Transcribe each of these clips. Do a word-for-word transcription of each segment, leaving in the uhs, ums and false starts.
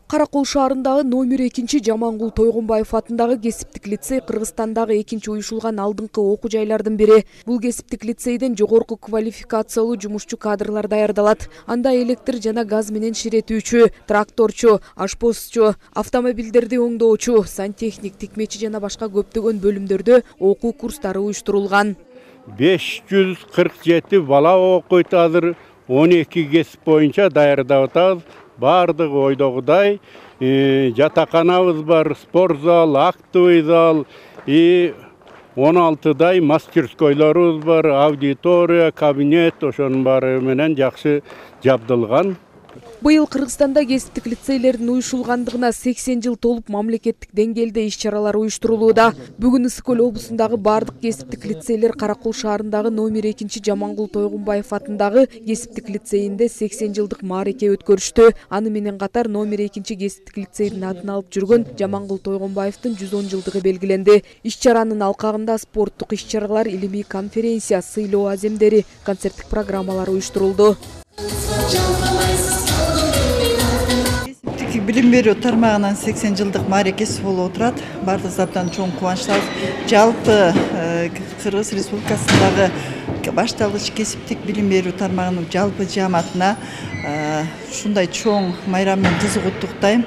Каракол шаарындагы номер экинчи Жамангул Тойгонбаев атындагы кесиптик лицей Кыргызстандагы экинчи уюшулган алдыңкы окуу жайлардын бири. Бул кесиптик лицейден жогорку квалификациялуу жумушчу кадрлар даярдалат. Анда электр жана газ менен ширетүүчү, тракторчу, ашпозчу, автомобилдерди оңдоочу, сантехник, тикмечи жана башка көптөгөн бөлүмдөрдө окуу курстары уюштурулган. беш жүз кырк жети бала окуйт азыр, он эки кесип боюнча даярдап атабыз. Бардыгы ойдогудай жатаканабыз бар, спорт зал, актовый зал и он алтыдай мастерскойлорубуз бар, аудитория, кабинет ошонун баары менен жакшы жабдылган. Быйыл Кыргызстанда кесиптик лицейлердин уюшулгандыгына сексен жыл толуп мамлекеттик деңгээлде иш-чаралар уюштурулууда. Бүгүн Ысык Көл облусундагы бардык кесиптик лицейлер Каракол шаарындагы номер экинчи Жамангул Тойгонбаев атындагы кесиптик лицейинде сексен жылдык маареке өткөрүштү. Аны менен катар номер экинчи кесиптик лицейдин атын алып жүргөн Жамангул Тойгонбаевдин жүз он жылдыгы белгиленди. Иш-чаранын алкагында спорттук иш-чаралар, илимий конференция, сыйлоо аземдери, концерттик программалар уюштурулду. Билим берүү тармагынын сексен жылдык маарекеси болуп отурат. Бардыгыбыз абдан чоң кубанычтабыз. Жалпы Кыргыз Республикасындагы башталгыч кесиптик билим берүү тармагынын жалпы жааматына ушундай чоң майрам менен кызыгууттуктайм.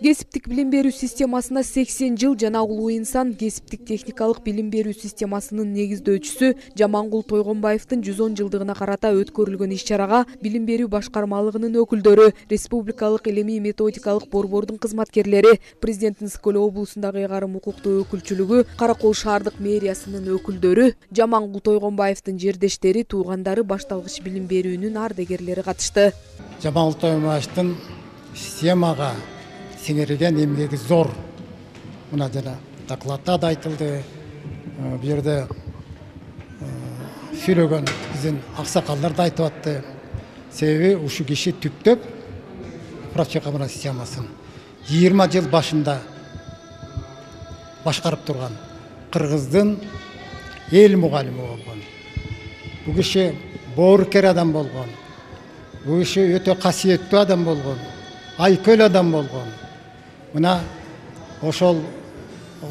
Кесиптик билим берүү системасына сексен жыл жана улуу инсан кесиптик техникалык билим берүү системасынын негиздөөчүсү Жамангул Тойгонбаевдин жүз он жылдыгына карата өткөрүлгөн иш-чарага билим берүү башкармалыгынын өкүлдөрү, республикалык илимий методикалык борбордун кызматкерлери, президенттин Ысык Көл облусундагы ыйгарым укуктуу өкүлчүлүгү, Каракол шаардык мэриясынын өкүлдөрү, Жамангул Тойгонбаевдин жердештери, туугандары, башталгыч билим берүүнүн ардегерлери катышты. Жамангул Тойгонбаевдин системага сиңирген эмгеги зор. Мына жана докладда да айтылды. Бу жерде сүйлөгөн биздин аксакалдар да айтып атты. Себеби ушу киши түптөп управчый системасын жыйырма жыл башында башкарып турган Кыргыздын эл мугалими болгон. Бул киши боорукер адам болгон. Бул киши өтө касиеттүү адам болгон. Айкөл адам болгон. Мына ошол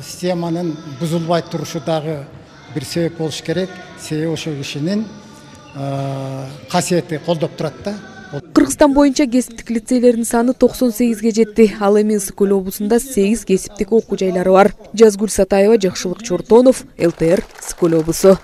системанын бузулбай турушу дагы бир себеп болуш керек. Себеби ошол кишинин касиети колдоп турат да. Кыргызстан боюнча кесиптик лицейлердин саны токсон сегизге жетти. Ал эми Ысык Көл облусунда сегиз кесиптик окуу жайлары бар. Жазгүл Сатаева, Жакшылык Чортонов, эл тэ эр, Ысык Көл облусу.